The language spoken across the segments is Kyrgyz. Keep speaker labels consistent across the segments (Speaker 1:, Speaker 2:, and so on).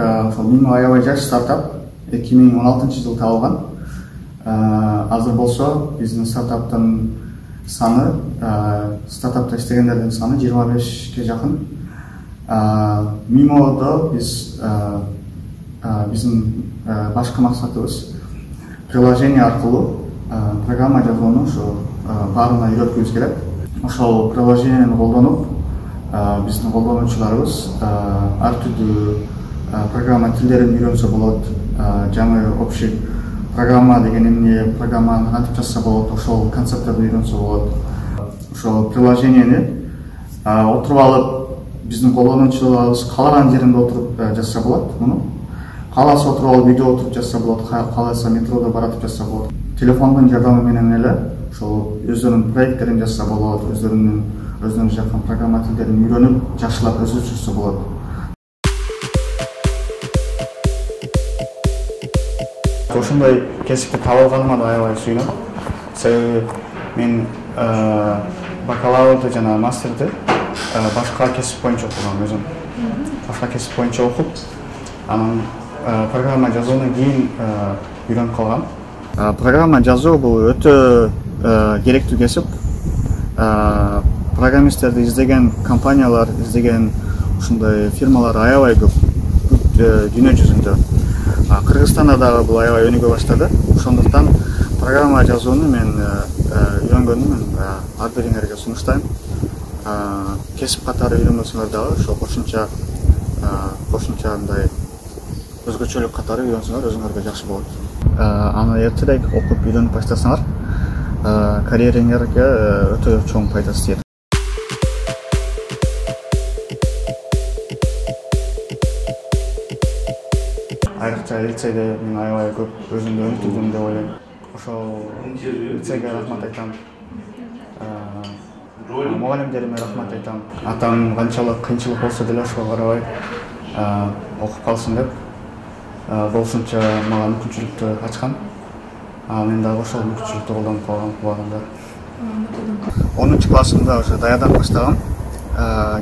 Speaker 1: ошол Mimo аябай жаш стартап 2016-жылы табылган. Азыр болсо биздин стартаптын саны, стартапта иштегендердин саны 25ке жакын. Mimo'до биздин башкы максатыбыз приложение аркылуу программа жазууну ошо баарына үйрөткүбүз келет. Ошол приложениени колдонуп биздин колдонуучуларыбыз ар түрдүү программа тилдерин үйрөнсө болот. Жаңы общий программа деген эмне, программаны кантип жазса болот, ошол концепттерди үйрөнсө болот. Ошол приложениени отуруп алып биздин колдонуучуларыбыз каалаган жеринде отуруп жазса болот. Муну кааласа отуруп алып үйдө отуруп жазса болот, кааласа метродо баратып жазса болот. Телефондун жардамы менен эле ошол өздөрүнүн проекттерин жазса болот, өздөрүнүн жаккан программа тилдерин үйрөнүп, жакшылап өсүрүшсө болот. Ошондой кесипти таба алганыма да аябай сүйүнөм. Себеби мен бакалаврды жана мастерди башка кесип боюнча окугам өзүм. Башка кесип боюнча окуп, анан программа жазууну кийин үйрөнүп калгам. Программа жазуу бул өтө керектүү кесип. Программисттерди издеген компаниялар, издеген ушундай фирмалар аябай көп дүйнө жүзүндө. Кыргызстанда дагы бул аябай өнүгө баштады. Ошондуктан программа жазууну мен үйрөнгөнүм ар бириңерге сунуштайм. Кесип катары үйрөнбөсөңөр дагы ошо кошумча мындай өзгөчөлүк катары үйрөнсөңөр өзүңөргө жакшы болот. Аны эртерээк окуп үйрөнүп баштасаңар карьериңерге өтө чоң пайдасы тиет. Айрыкча лицейде мен аябай көп өзүмдү өнүктүрдүм деп ойлойм. Ошол лицейге рахмат айтам. Мугалимдериме рахмат айтам. Атам канчалык кыйынчылык болсо деле ошого карабай окуп калсын деп болушунча мага мүмкүнчүлүктү ачкан. Мен дагы ошол мүмкүнчүлүктү колдонуп калгам убагында. 10-классымда уже даярдан баштагам.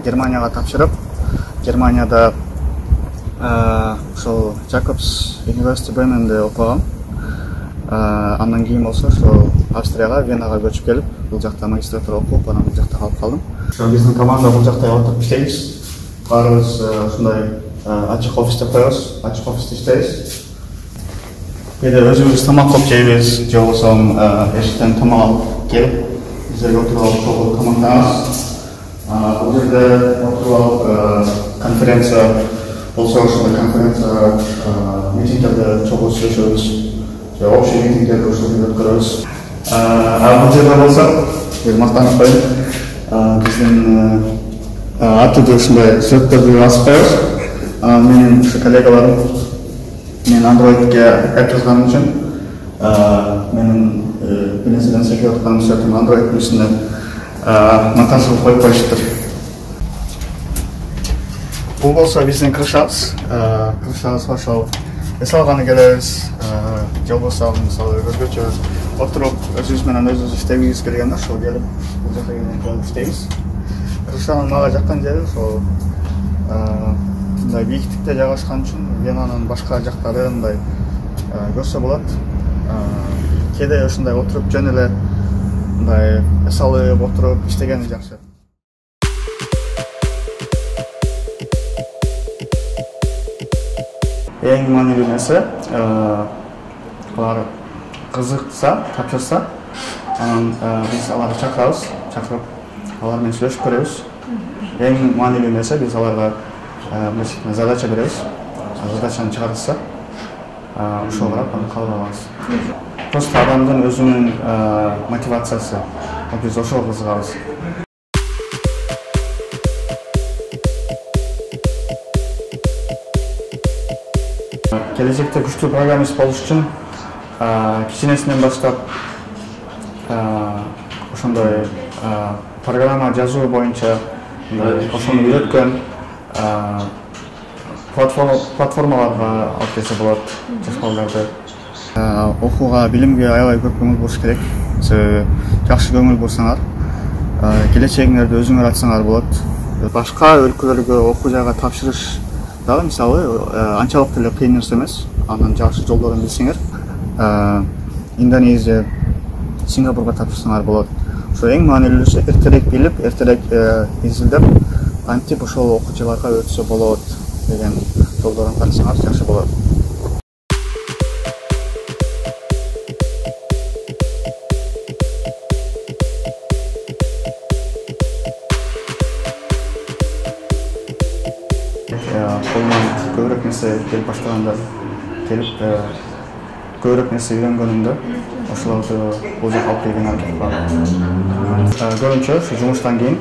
Speaker 1: Германияга тапшырып, Германияда ошол Jacobs University Bremenде окугам. Андан кийин болсо ошол Австрияга, Венага көчүп келип, бул жакта магистратура окуп, анан бул жакта калып калдым. Ошо биздин команда бул жакта отуруп иштейбиз. Баарыбыз ушундай ачык офисте коебуз, ачык офисте иштейбиз. Кээде өзүбүз тамак кылып жейбиз, же болбосо эшиктен тамак алып келип, бизерге отуруп алып чогуу тамактанабыз. Бул жерде отуруп алып конференция болсо ошол конференцияга митингдерде чогуу сүйлөшөбүз. Же общий митингдерди ошол жерде өткөрөбүз. Бул жерде болсо, мактанып коеюн, биздин ар түрдүү ушундай сүрөттөрдү басып коебуз. Менин ушу коллегаларым мен Android'ге код жазганым үчүн менин бир нерседен секирип атканым сүрөтүм Android'дун үстүнө монтаж кылып коюп коюшуптур. Бул болсо биздин крышабыз. Крышабызга ошол эс алганы келебиз. Же болбосо мисалы өзгөчө отуруп өзүбүз менен өзүбүз иштегибиз келгенде ошол келип бул жерге келип иштейбиз. Крышанын мага жаккан жери ошол мындай бийиктикте жайгашкан үчүн Венанын башка жактары мындай көрсө болот. Кээде ушундай отуруп жөн эле мындай эс алып отуруп иштегени жакшы. Эң маанилүү нерсе алар кызыкса, тапшырса, анан биз аларды чакырып алар менен сүйлөшүп көрөбүз. Эң маанилүү нерсе биз аларга задача беребиз. Задачаны чыгарса, ошого карап аны кабыл алабыз. Просто адамдын өзүнүн мотивациясы, биз ошого кызыгабыз. Келечекте күчтүү программист болуш үчүн кичинесинен баштап ошондой программа жазуу боюнча ошону үйрөткөн платформаларга алып келсе болот жаш балдарды. Окууга, билимге аябай көп көңүл буруш керек. Себеби жакшы көңүл бурсаңар, келечегиңерди өзүңөр ачсаңар болот. Башка өлкөлөргө окуу жайга тапшырыш дагы мисалы анчалык деле кыйын нерсе эмес. Анын жакшы жолдорун билсеңер, Индонезия, Сингапурга тапшырсаңар болот. Ошо эң маанилүүсү эртерээк билип, эртерээк изилдеп, кантип ошол окуучуларга өтсө болот деген жолдорун карасаңар жакшы болот. Колуман көбүрөөк нерсе келип баштаганда, көбүрөөк нерсе үйрөнгөнүмдө ошолорду бул жака алып келген аракет кылам. Көбүнчө ушу жумуштан кийин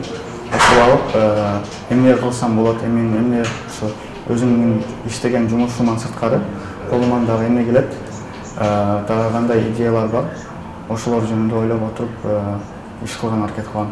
Speaker 1: окуп алып, эмне кылсам болот, эмне ушу өзүмдүн иштеген жумушуман сырткары колуман дагы эмне келет, дагы кандай идеялар бар, ошолор жөнүндө ойлоп отуруп иш кылган аракет кылам.